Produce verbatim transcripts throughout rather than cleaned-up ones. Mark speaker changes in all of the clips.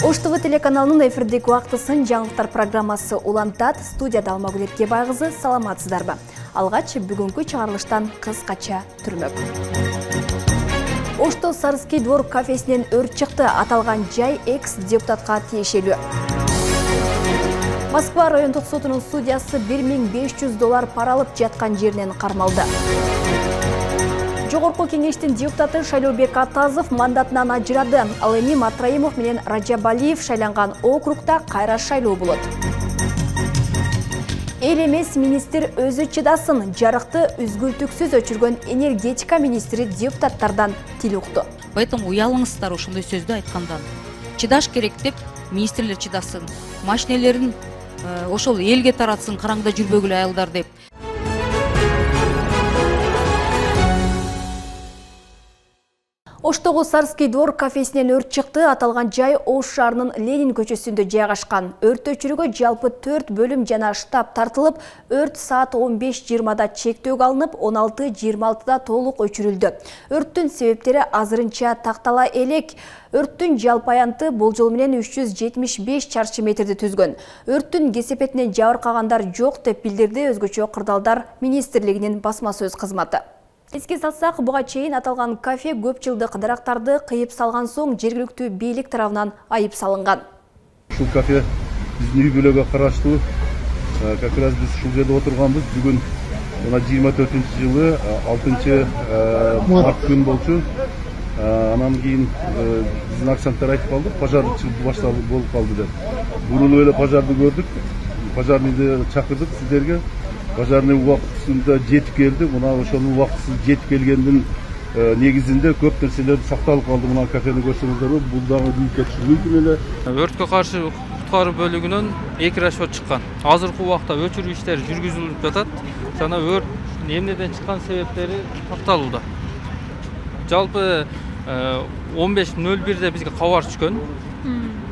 Speaker 1: Ош ТВ телеканалынын эфирдеги убактысын жаңылыктар программасы улантат. Студияда Алмагүл Эркебай кызы, саламатсыздарбы? Алгач бүгүнкү чыгарылыштан кыскача түрмөк. Ошто Сарыский двор кафесинен өрт чыкты. Аталган жай экс-депутатка тиешелүү. Москва райондук сотунун судьясы бир миң беш жүз доллар пара алып жаткан жеринен кармалды. Жогорку кеңештин депутаты Шайлообек Атазов мандатынан ажырады. Ал эми Матраимов менен Ражабалиев шайланган округда кайра шайлоо болот. Эл эмес министр өзү чыдасын. Жарыкты үзгүлтүксүз өчүргөн энергетика министри депутаттардан тил укту.
Speaker 2: Поэтому уялыңыздар ошондой сөздү айткандан. Чыдаш керек деп министрлер чыдасын. Машинелерин ошол элге таратсын, караңда жүрбөгүлө айылдар деп.
Speaker 1: Оштогу Сарыский двор кафесинен өрт чыкты. Аталган жай Ош шаарынын Ленин көчөсүндө жайгашкан. Өрт өчүрүүгө жалпы төрт бөлүм жана штаб тартылып, өрт саат он беш жыйырмада чектөөгө алынып, он алты жыйырма алтыда толук өчүрүлдү. Өрттүн себептери азырынча тактала элек. Өрттүн жалпы аянты болжол менен үч жүз жетимиш беш чарчы метрди түзгөн. Өрттүн кесепетинен жабыркагандар жок деп билдирди өзгөчө Кырдаалдар министрлигинин басма сөз кызматы. Эске салсак, буга чейин аталган кафе көп жылдык дарактарды кыйып салган соң жергиликтүү бийлик тарабынан айып салынган.
Speaker 3: Ушул кафе биздин үй бүлөгө караштуу. Как раз биз ушул жерде отурганбыз. Бүгүн мына жыйырма төртүнчү жылы алтынчы март күн болчу. Анан кийин биздин аксанттар айтып калды, пожар башталып болуп калды деп. Бурулуп эле пожарды көрдүк. Пожарныйды чакырдык сиздерге. Пожарный убактысында жетип келди. Мына ошонун убактысыз жетип келгендин негизинде көп нерселер сакталып калды. Мына кафени көрсөңүздөр, бул дагы бийикке чыгуу мүмкүн эле.
Speaker 4: Өрткө каршы куткаруу бөлүгүнөн эки расчет чыккан. Азыркы убакта өчүрүү иштери жүргүзүлүп жатат. Жана өрт эмнеден чыккан себептери такталууда. Жалпы он беш нөл бирде бизге кабар түшкөн.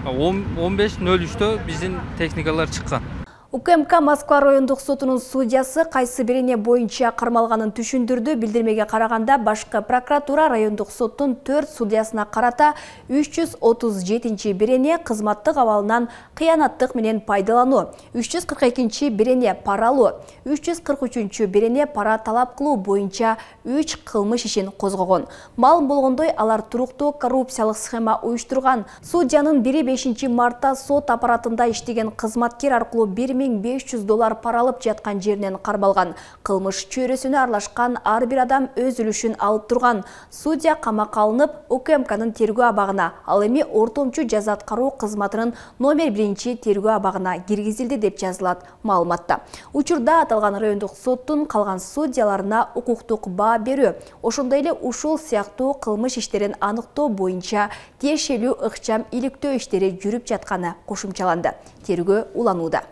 Speaker 4: он беш нөл үчтө биздин техникалар чыккан.
Speaker 1: УКМК Москва райондук сотунун судьясы кайсы бирине боюнча кармалганын түшүндүрдү. Билдирмеге караганда башкы прокуратура райондук соттун төрт судьясына карата үч жүз отуз жетинчи бирене кызматтык абалынан кыянаттык менен пайдалануу, үч жүз кырк экинчи бирене пара алуу, үч жүз кырк үчүнчү бирене пара талап кылуу боюнча үч кылмыш ишин козгогон. Маалым болгондой, алар туруктуу коррупциялык схема уюштурган. Судьянын бири бешинчи мартта сот аппаратында иштеген кызматкер аркылуу бир миң беш жүз доллар пара алып жаткан жеринен кармалган. Кылмыш чөйрөсүнө аралашкан ар бир адам өз үлүшүн алып турган. Судья камакка алынып, УКМКнын тергөө абагына, ал эми ортомчу жаза аткаруу кызматынын номер биринчи тергөө абагына киргизилди деп жазылат маалыматта. Учурда аталган райондук соттун калган судьяларына укуктук баа берүү, ошондой эле ушул сыяктуу кылмыш иштерин аныктоо боюнча тиешелүү ыкчам иликтөө иштери жүрүп жатканы кошумчаланды. Тергөө уланууда.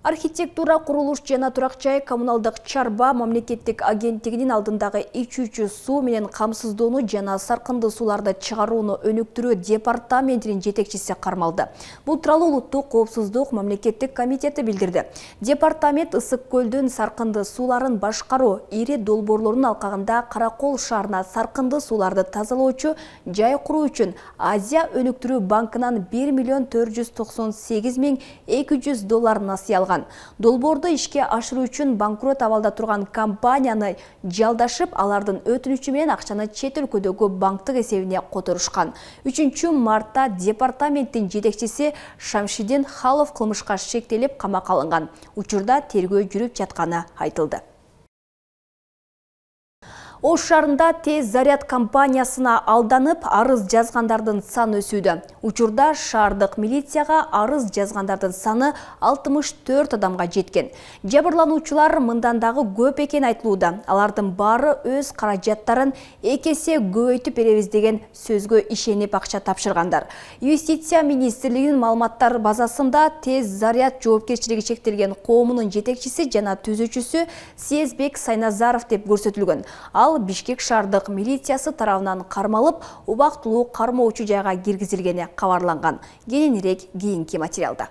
Speaker 1: Архитектура, курулуш жана турак жай коммуналдык чарба мамлекеттик агенттигинин алдындагы ичүүчү суу менен камсыздоону жана саркынды сууларды чыгарууну өнүктүрүү департаментинин жетекчиси кармалды. Бул тууралуу улуттук коопсуздук мамлекеттик комитети билдирди. Департамент Ысык көлдүн саркынды сууларын башкаруу, ири долбоорлордун алкагында Каракол шаарына саркынды сууларды тазалоочу жай куруу үчүн Азия өнүктүрүү банкынан бир миллион төрт жүз токсон сегиз миң эки жүз доллар насыя алган. Долбоорду ишке ашыруу үчүн банкрот абалда турган компанияны жалдашып, алардын өтүнүчү менен акчаны чет өлкөдөгү банктык эсебине которушкан. үчүнчү мартта департаменттин жетекчиси Шамшидин Халов кылмышка шектелип камакка алынган. Учурда тергөө жүрүп жатканы айтылды. Ош шаарында тез заряд компаниясына алданып, арыз жазгандардын саны өсүүдө. Учурда шаардык милицияга арыз жазгандардын саны алтымыш төрт адамга жеткен. Жабырлануучулар мындан дагы көп экен айтылууда. Алардын баары өз каражаттарын эки эсе көбөйтүп беребиз деген сөзгө ишенип акча тапшыргандар. Юстиция министрлигинин маалыматтар базасында тез заряд жоопкерчилиги чектелген коомунун жетекчиси жана түзүүчүсү Сезбек Сайназаров деп көрсөтүлгөн. Ал Бишкек шаардык милициясы тарабынан кармалып, убактылуу кармоочу жайга киргизилгени кабарланган. Кененирээк кийинки материалда.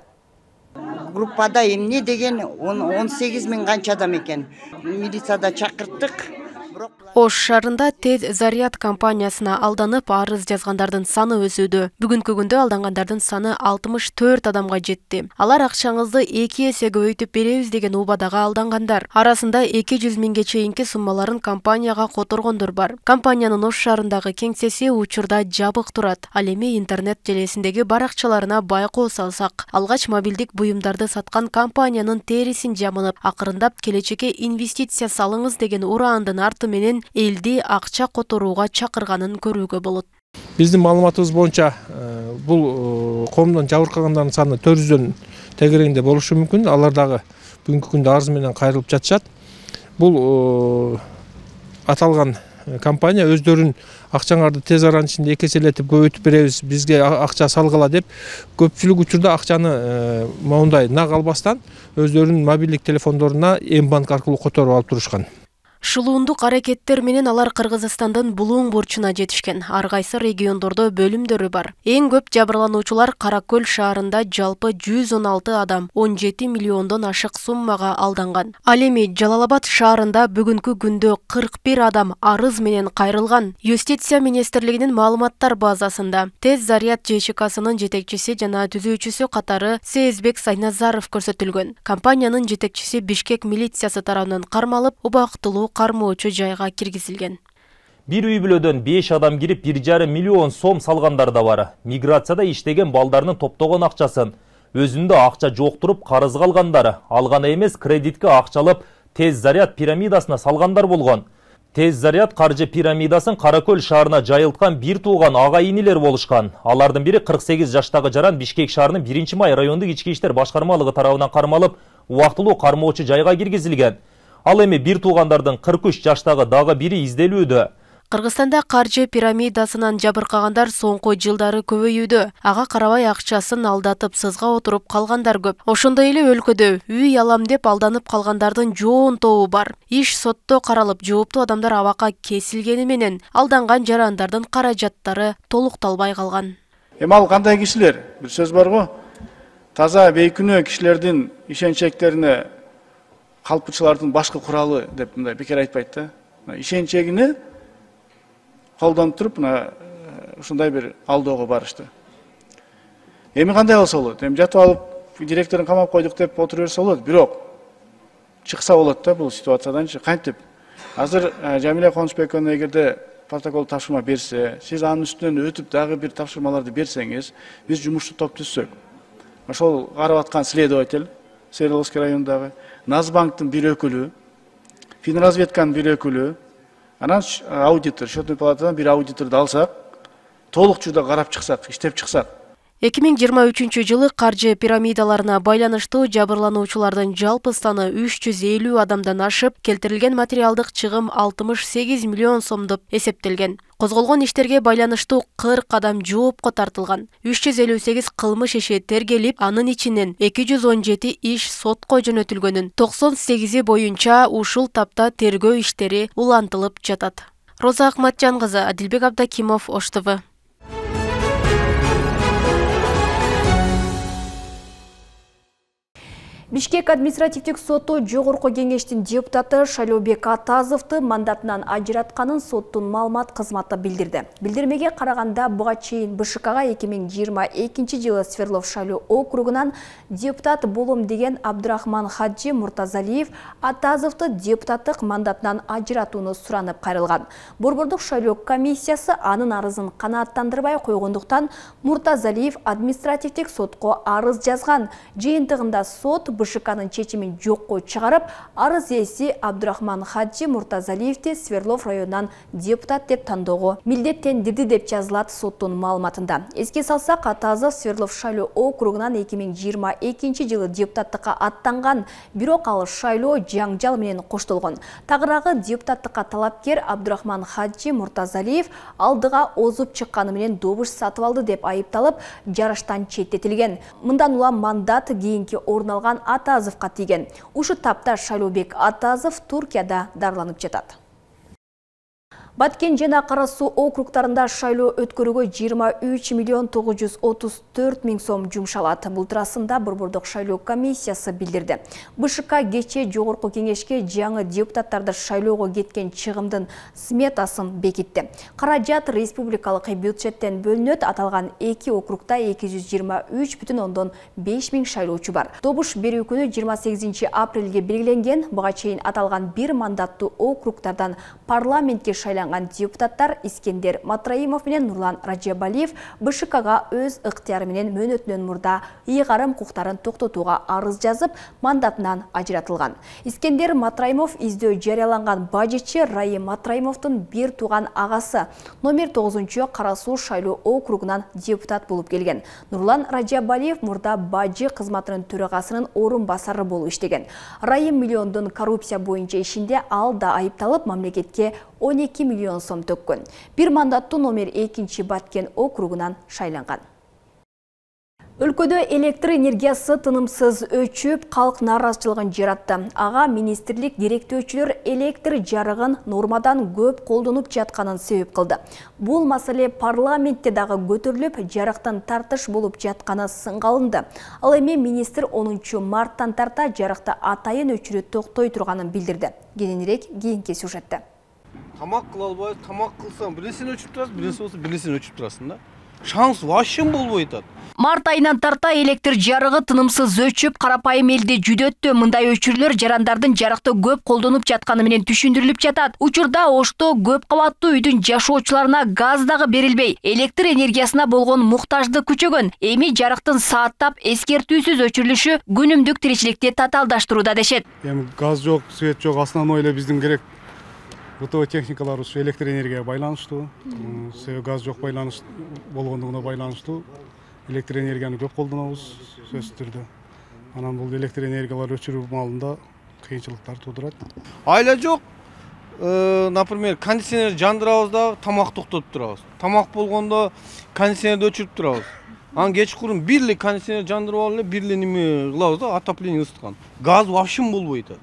Speaker 5: Группада эмне деген он сегиз миң канча адам экен. Милицияда чакырттык.
Speaker 6: Ош шаарында Тез Заряд компаниясына алданып арыз жазгандардын саны өсүүдө. Бүгүнкү күндө алдангандардын саны алтымыш төрт адамга жетти. Алар акчаңызды эки эсе көбөйтүп беребиз деген убадага алдангандар. Арасында эки жүз миңге чейинки суммаларын компанияга которгондор бар. Компаниянын Ош шаарындагы кеңсеси учурда жабык турат. Ал эми интернет желесиндеги баракчаларына байкоо салсак, алгач мобилдик буюмдарды саткан компаниянын терисин жамылып, акырындап келечекке инвестиция салыңыз деген ураандын арты менен элди акча которууга чакырганын көрүүгө болот.
Speaker 7: Биздин маалыматыбыз боюнча бул коомдон жабыркагандардын саны төрт жүздөн тегерегинде болушу мүмкүн. Алар дагы бүгүнкү күндө арыз менен кайрылып жатышат. Бул аталган компания өздөрүн акчаңарды тез аранын ичинде эки эселетип көбөйтүп беребиз, бизге акча салгыла деп көпчүлүк учурда акчаны моундай нак албастан өздөрүнүн мобилдик телефондоруна М-банк аркылуу которуп алып турушкан.
Speaker 6: Шулуундук аракеттер менен алар Кыргызстандын булуң бурчуна жетишкен. Ар кайсы региондордо бөлүмдөрү бар. Эң көп жабырлануучулар Каракөл шаарында жалпы жүз он алты адам он жети миллиондон ашык суммага алданган. Ал эми Жалал-Абад шаарында бүгүнкү күндө кырк бир адам арыз менен кайрылган. Юстиция министрлигинин маалыматтар базасында Тез Заряд ЖЧКсынын жетекчиси жана түзүүчүсү катары Сезбек Сайназаров көрсөтүлгөн. Компаниянын жетекчиси Бишкек милициясы тарабынан кармалып, убактылуу кармоочу жайга киргизилген.
Speaker 8: Бир үй бүлөдөн беш адам кирип бир жарым миллион сом салгандар да бар. Миграцияда иштеген балдарынын топтогон акчасын өзүндө акча жоктуруп карызга алгандар, алган эмес кредитке акчалып Тез Заряд пирамидасына салгандар болгон. Тез Заряд каржы пирамидасын Каракөл шаарына жайылткан бир тууган ага-инилер болушкан. Алардын бири кырк сегиз жаштагы жаран Бишкек шаарынын биринчи май райондук ички иштер башкармалыгы тарабынан кармалып, убактылуу кармоочу жайга киргизилген. Ал эми бир туугандардын кырк үч жаштагы дагы бири изделүүдө.
Speaker 6: Кыргызстанда каржы пирамидасынан жабыркагандар соңку жылдары көбөйүүдө. Ага карабай акчасын алдатып сызга отуруп калгандар көп. Ошондой эле өлкөдө үй алам деп алданып калгандардын жоон тобу бар. Иш сотто каралып, жооптуу адамдар абакка кесилгени менен алданган жарандардын каражаттары толукталбай калган.
Speaker 9: Эми ал кандай кишилер? Бир сөз бар го. Таза бейкүнөө кишилердин ишенчектерине калпычылардын башкы куралы деп мындай бекер айтпайт да. Ишенчегине колдонуп туруп, ушундай бир алдоого барышты. Эми кандай болсо болот? Эми жатып алып, директорун камап койдук деп отура берсе болот, бирок чыкса болот да бул ситуацияданчы. Кантип? Азыр Жамиля Конучбековна эгерде протокол тапшырма берсе, сиз анын үстүнөн өтүп дагы бир тапшырмаларды берсеңиз, биз жумушчу топ түзсөк. Ошол карап аткан следователь Свердловский районундагы Назбанктын бир өкүлү, Финразведканын бир өкүлү, анан аудитор, счетный палатадан бир аудиторду алсак, толукчуда карап чыксак, иштеп чыксак.
Speaker 6: эки миң жыйырма үчүнчү жылы каржы пирамидаларына байланыштуу жабырлануучулардын жалпы саны үч жүз элүү адамдан ашып, келтирилген материалдык чыгым алтымыш сегиз миллион сом деп эсептелген. Козголгон иштерге байланыштуу кырк адам жоопко тартылган. үч жүз элүү сегиз кылмыш иши тергелип, анын ичинен эки жүз он жети иш сотко жөнөтүлгөнүн, токсон сегизи боюнча ушул тапта тергөө иштери улантылып жатат. Роза Акматжан кызы, Адилбек Абдакимов, Ош Т В.
Speaker 1: Бишкек административдик соту жогорку кеңештин депутаты Шайлообек Атазовду мандатынан ажыратканын соттун маалымат кызматы билдирди. Билдирмеге караганда буга чейин Б Ш Кга эки миң жыйырма экинчи жылы Свердлов шайлоо округунан депутат болом деген Абдрахман Хаджи Муртазалиев Атазовду депутаттык мандатынан ажыратууну суранып кайрылган. Борбордук шайлоо комиссиясы анын арызын канааттандырбай койгондуктан Муртазалиев административдик сотко арыз жазган. Жыйынтыгында сот Б Ш Кнын чечимин жокко чыгарып, арыз ээси Абдрахман Хаджи Муртазалиевди Свердлов районунан депутат деп тандоого милдеттендирди деп жазылат соттун маалыматында. Эске салсак, Атазов Свердлов шайлоо округунан эки миң жыйырма экинчи жылы депутаттыкка аттанган, бирок ал шайлоо жаңжал менен коштолгон. Тагыраагы депутаттыкка талапкер Абдрахман Хаджи Муртазалиев алдыга озуп чыкканы менен добуш сатып алды деп айыпталып, жарыштан четтетилген. Мындан улам мандат кийинки орун алган Атазовго тийген. Ушу тапта Шайлообек Атазов Туркияда дарыланып жатат. Баткен жана Кара Суу округтарында шайлоо өткөрүүгө жыйырма үч миллион тогуз жүз отуз төрт миң сом жумшалат. Бул туурасында Борбордук шайлоо комиссиясы билдирди. БШК кечээ жогорку кеңешке жаңы депутаттарды шайлоого кеткен чыгымдын сметасын бекитти. Каражат республикалык бюджеттен бөлүнөт. Аталган эки округда эки жүз жыйырма үч бүтүн ондон беш миң шайлоочу бар. Добуш берүү күнү жыйырма сегизинчи апрелге белгиленген. Буга чейин аталган бир мандаттуу округтардан парламентке шайланган депутаттар Искендер Матраимов менен Нурлан Ражабалиев БШКга өз ыктыяры менен мөөнөтүнөн мурда ыйгарым укуктарын токтотууга арыз жазып, мандатынан ажыратылган. Искендер Матраимов издөө жарыяланган бажечи Райым Матраимовдун бир тууган агасы номер тогузунчу Кара Суу шайлоо округунан депутат болуп келген. Нурлан Ражабалиев мурда бажы кызматынын төрагасынын орун басары болуп иштеген. Райым миллиондун коррупция боюнча ишинде ал да айыпталып, мамлекетке он эки миллион сом төккөн. Бир мандаттуу номер экинчи Баткен округунан шайланган. Өлкөдө электр энергиясы тынымсыз өчүп, калк нааразычылыгын жаратты. Ага министрлик директөөчүлөр электр жарыгын нормадан көп колдонуп жатканын себеп кылды. Бул маселе парламентте дагы көтөрүлүп, жарыктан тартыш болуп жатканы сынга алынды. Ал эми министр онунчу марттан тарта жарыкты атайын өчүрүү токтой турганын билдирди. Кененирээк кийинки сюжетте.
Speaker 10: Тамак кыла албай, тамак кылсаң, биресин өчүп турасың, биресе болсо биресин өчүп турасың да. Шанс вообще болбой атат.
Speaker 11: Март айынан тарта электр жарыгы тынымсыз өчүп, карапайым элди жүдөттү. Мындай өчүрлөр жарандардын жарыкты көп колдонуп жатканы менен түшүндүрүлүп жатат. Учурда Ошто көп кабаттуу үйдүн жашоочуларына газ дагы берилбей, электр энергиясына болгон муктаждык күчөгөн. Эми жарыктын сааттап эскертүүсүз өчүрүлүшү күнүмдүк тиричиликти татаалдаштырууда дешет.
Speaker 12: Эми газ жок, свет жок, основной эле биздин керек бытовой техникалар ушу электр энергияга байланыштуу. Себеби газ жок байланыш болгондугуна байланыштуу. Электр энергияны көп колдонобуз сөзсүз түрдө. Анан бул электр энергиялар өчүрүү маалында кыйынчылыктар туудурат.
Speaker 10: Айла жок. Например, кондиционер жандырабыз да тамак токтотуп турабыз. Тамак болгондо кондиционерди өчүрүп турабыз. Анан кечкурун бирли кондиционер жандырып алып эле бирли неме кылабыз да, отопление ысыткан. Газ вообще болбой атат.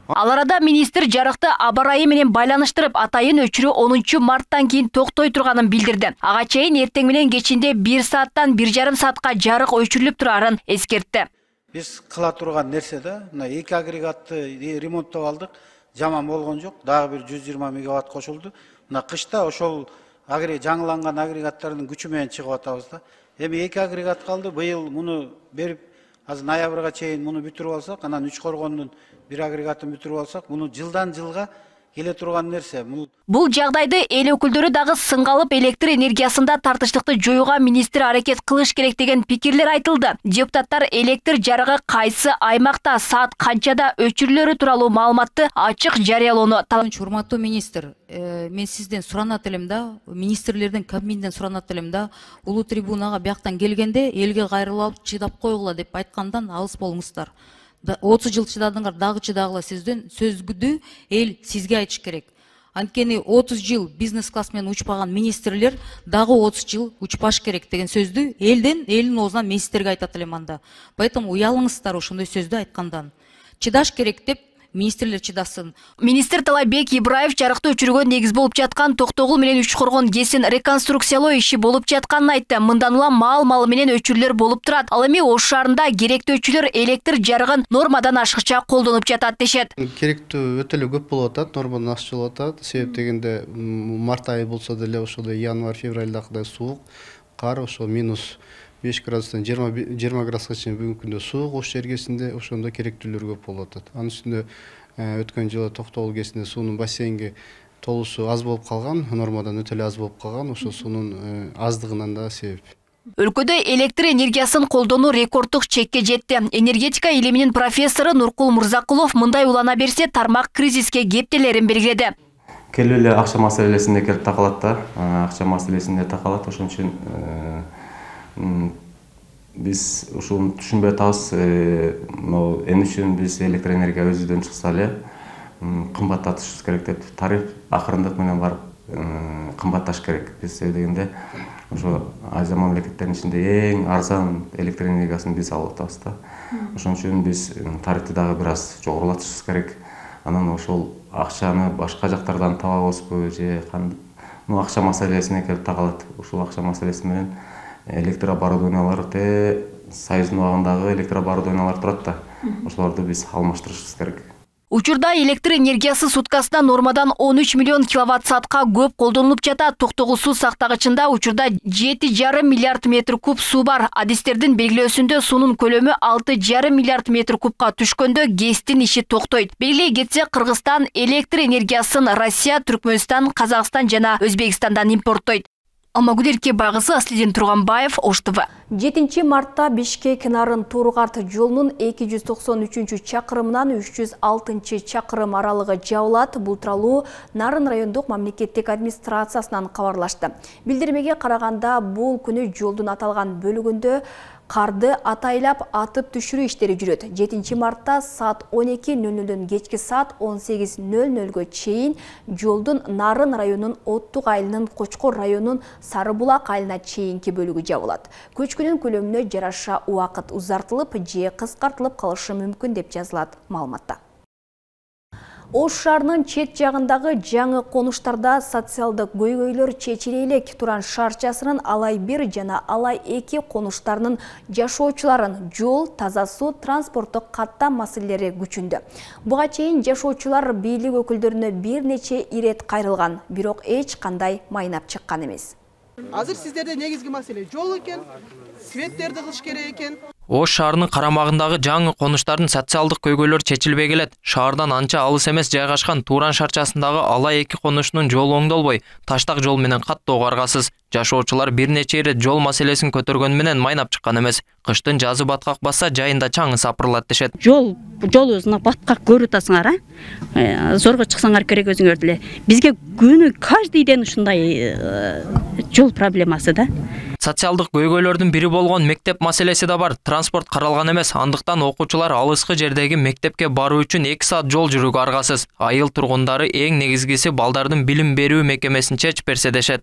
Speaker 11: Ал арада министр жарыкты аба ырайы менен байланыштырып, атайын өчүрүү онунчу марттан кийин токтой турганын билдирди. Ага чейин эртең менен кечинде бир сааттан бир жарым саатка жарык өчүрүлүп турарын эскертти.
Speaker 13: Биз кыла турган нерсе да, мына эки агрегатты ремонттоп алдык, жаман болгон жок, дагы бир жүз жыйырма мегаватт кошулду. Мына кышта ошол жаңыланган агрегаттардын күчү менен чыгып атабыз да. Эми эки агрегат калды, быйыл муну берип, азыр ноябрга чейин муну бүтүрүп алсак, анан үч коргондун бир агрегатын бүтүрүп алсак, муну жылдан жылга келе турган нерсе.
Speaker 11: Бул жагдайды эл өкүлдөрү дагы сынга алып, электр энергиясында тартыштыкты жоюуга министр аракет кылыш керек деген пикирлер айтылды. Депутаттар электр жарыгы кайсы аймакта, саат канчада өчүрүлөрү тууралуу маалыматты ачык жарыялоону талап
Speaker 2: этти. Урматтуу министр, мен сизден суранат элем да, министрлердин кабинетинен суранат элем да, улуу трибунага бияктан келгенде элге кайрылып чыдап койгула деп айткандан алыс болуңуздар. отуз жыл чыдадыңар, дагы чыдагыла сизден сөзгүдү эл сизге айтыш керек. Анткени отуз жыл бизнес класс менен учпаган министрлер дагы отуз жыл учпаш керек деген сөздү элден, элдин оозунан мен сиздерге айтат элем анда. Поэтому уялыңыздар ошондой сөздү айткандан. Чыдаш керек деп министрлер чыдасын.
Speaker 11: Министр Талайбек Ибраев жарыкты өчүрүүгө негиз болуп жаткан Токтогул менен Үч Коргон ГЭСин реконструкциялоо иши болуп жатканын айтты. Мындан улам маал-малы менен өчүрлөр болуп турат. Ал эми Ош шаарында керектүү өчүрлөр электр жарыгын нормадан ашыкча колдонуп жатат дешет.
Speaker 14: Керектүү өтө эле көп болуп атат, нормадан ашыкча болуп атат. Себеп дегенде март айы болсо деле ошондой январь, февралдагыдай суук, кар ошо минус беш градустан жыйырма градуска чейин бүгүнкү күндө суук Ош жергесинде ошондо керектүүлөр көп болуп атат. Анын үстүндө өткөн жылы Токтогул ГЭСинде суунун бассейнге толуусу аз болуп калган, нормадан өтө эле аз болуп калган, ошо суунун аздыгынан да себеп.
Speaker 11: Өлкөдө электр энергиясын колдонуу рекорддук чекке жетти. Энергетика илиминин профессору Нуркул Мурзакулов мындай улана берсе тармак кризиске кептелерин белгиледи.
Speaker 15: Келип эле акча маселесинде келип такалат да, акча маселесинде такалат, ошон үчүн биз ушуну түшүнбөй атабыз. Эмне үчүн биз электр энергия өзүдөн чыкса эле кымбаттатышыбыз керек деп, тариф акырындык менен барып кымбатташ керек. Биз дегенде ошо Азия мамлекеттеринин ичинде эң арзан электр энергиясын биз алып атабыз да. Ошон үчүн биз тарифти дагы бир аз жогорулатышыбыз керек. Анан ошол акчаны башка жактардан табабызбы же ну акча маселесине келип такалат. Ушул акча маселеси менен электрооборудованиялар те Союздун убагындагы электрооборудованиялар турат да. Ошолорду биз алмаштырышыбыз керек.
Speaker 11: Учурда электр энергиясы суткасына нормадан он үч миллион киловатт саатка көп колдонулуп жатат. Токтогул суу сактагычында учурда жети жарым миллиард метр куб суу бар. Адистердин белгилөөсүндө суунун көлөмү алты жарым миллиард метр кубка түшкөндө ГЭСтин иши токтойт. Белгилей кетсек, Кыргызстан электр энергиясын Россия, Түркмөнстан, Казакстан жана Өзбекстандан импорттойт. Алмагүл Эркебайкызы, Аслидин Турганбаев, Ош ТВ.
Speaker 1: жетинчи мартта Бишкек Нарын Тургарт жолунун эки жүз токсон үчүнчү чакырымынан үч жүз алтынчы чакырым аралыгы жабылат. Бул тууралуу Нарын райондук мамлекеттик администрациясынан кабарлашты. Билдирмеге караганда, бул күнү жолдун аталган бөлүгүндө карды атайлап атып түшүрүү иштери жүрөт. жетинчи мартта саат он эки нөл нөлдөн кечки саат он сегиз нөл нөлгө чейин жолдун Нарын районунун Оттук айылынын Кочкор районунун Сары Булак айылына чейинки бөлүгү жабылат. Көчкүнүн көлөмүнө жараша убакыт узартылып же кыскартылып калышы мүмкүн деп жазылат маалыматта. Ош шаарынын чет жагындагы жаңы конуштарда социалдык көйгөйлөр чечиле элек. Туран шаарчасынын Алай бир жана Алай эки конуштарынын жашоочуларын жол, таза суу, транспорттук каттам маселелери күчүндө. Буга чейин жашоочулар бийлик өкүлдөрүнө бир нече ирет кайрылган, бирок эч кандай майнап чыккан эмес.
Speaker 16: Азыр сиздерде негизги маселе жол экен, светтерди кылыш керек экен.
Speaker 17: Ош шаарынын карамагындагы жаңы конуштардын социалдык көйгөйлөрү чечилбей келет. Шаардан анча алыс эмес жайгашкан Туран шаарчасындагы Алай эки конушунун жолу оңдолбой, таштак жол менен каттоо каргасыз. Жашоочулар бир нече ирет жол маселесин көтөргөн менен майнап чыккан эмес. Кыштын жазы баткак басса жайында чаңы сапырылат дешет.
Speaker 18: Жол жолубузна баткак көрүп атасыңар, а? Зорго чыксаңар керек өзүңөр деле. Бизге күнү каждый ден ушундай жол проблемасы да.
Speaker 17: Социалдык көйгөйлөрдүн бири болгон мектеп маселеси да бар. Транспорт каралган эмес, андыктан окуучулар алыскы жердеги мектепке баруу үчүн эки саат жол жүрүүгө аргасыз. Айыл тургундары эң негизгиси балдардын билим берүү мекемесин чечип берсе дешет.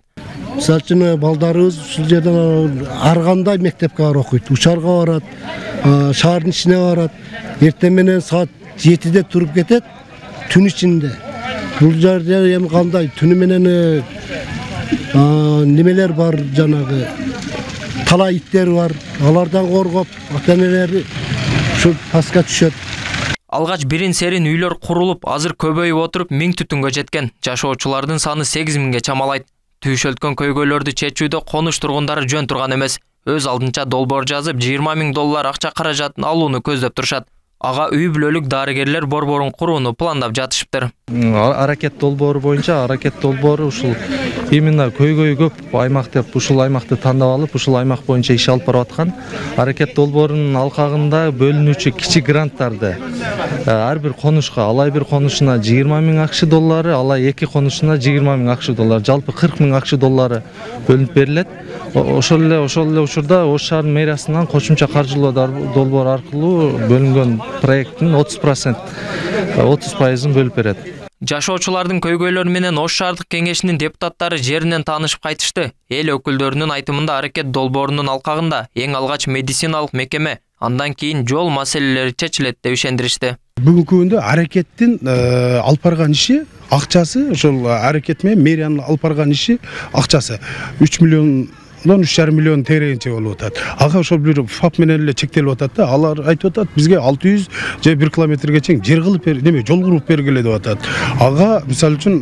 Speaker 19: Мисалы үчүн балдарыбыз ушул жерден ар кандай мектепке барып окуйт, учарга барат, шаардын ичине барат. Эртең менен саат жетиде туруп кетет, түн ичинде. Бул жерде эми кандай түнү менен немелер бар, жанагы талай иттер бар, алардан коргоп, ата-энелери ушу паска түшөт.
Speaker 17: Алгач бирин серин үйлөр курулуп, азыр көбөйүп отуруп миң түтүнгө жеткен. Жашоочулардын саны сегиз миңге чамалайт. Түйшөлткөн көйгөйлөрдү чечүүдө конуш тургундары жөн турган эмес. Өз алдынча долбоор жазып, жыйырма миң доллар акча каражатын алууну көздөп турушат. Ага үй бүлөлүк дарыгерлер борборун курууну пландап жатышыптыр.
Speaker 20: Аракет долбоору боюнча, аракет долбоору ушул именно көйгөй көп аймак деп ушул аймакты тандап алып, ушул аймак боюнча иш алып барып аткан. Аракет долбоорунун алкагында бөлүнүүчү кичи гранттарды ар бир конушка, Алай бир конушуна жыйырма миң акш доллары, Алай эки конушуна жыйырма миң акш доллары, жалпы кырк миң акш доллары бөлүнүп берилет. Ошол эле ошол эле учурда Ош шаарынын мэриясынан кошумча каржылоо долбоор аркылуу бөлүнгөн проекттин отуз процент отуз пайызын бөлүп берет.
Speaker 17: Жашоочулардын көйгөйлөрү менен Ош шаардык кеңешинин депутаттары жеринен таанышып кайтышты. Эл өкүлдөрүнүн айтымында аракет долбоорунун алкагында эң алгач медициналык мекеме, андан кийин жол маселелери чечилет деп ишендиришти.
Speaker 21: Бүгүнкү күндө аракеттин алып барган иши акчасы, ошол аракет менен мэриянын алып барган иши акчасы үч миллион үч жарым миллион тегерегинче болуп атат. Ага ошол бир ФАП менен эле чектелип атат да. Алар айтып атат, бизге алты жүз же бир километрге чейин жер кылып бер, неме, жол куруп бергиле деп атат. Ага мисалы үчүн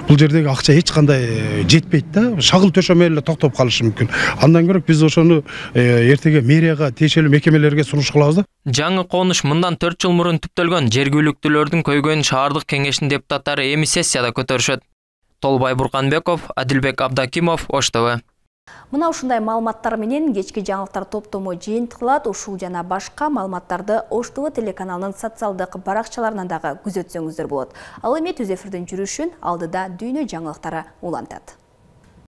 Speaker 21: бул жердеги акча эч кандай жетпейт да. Шагыл төшөмө эле токтоп калышы мүмкүн. Андан көрөк биз ошону эртеге мэрияга, тиешелүү мекемелерге сунуш кылабыз да.
Speaker 17: Жаңы конуш мындан төрт жыл мурун түптөлгөн. Жергиликтүүлөрдүн көйгөйүн шаардык кеңештин депутаттары эми сессияда көтөрүшөт. Толбай Бурканбеков, Адилбек Абдакимов, Ош ТВ.
Speaker 1: Мына ушундай маалыматтар менен кечки жаңылыктар топтому жыйынтыкталат. Ушул жана башка маалыматтарды Ош ТВ телеканалынын социалдык баракчаларынан дагы күзөтсөңүздөр болот. Ал эми түз эфирдин жүрүшүн алдыда дүйнө жаңылыктары улантат.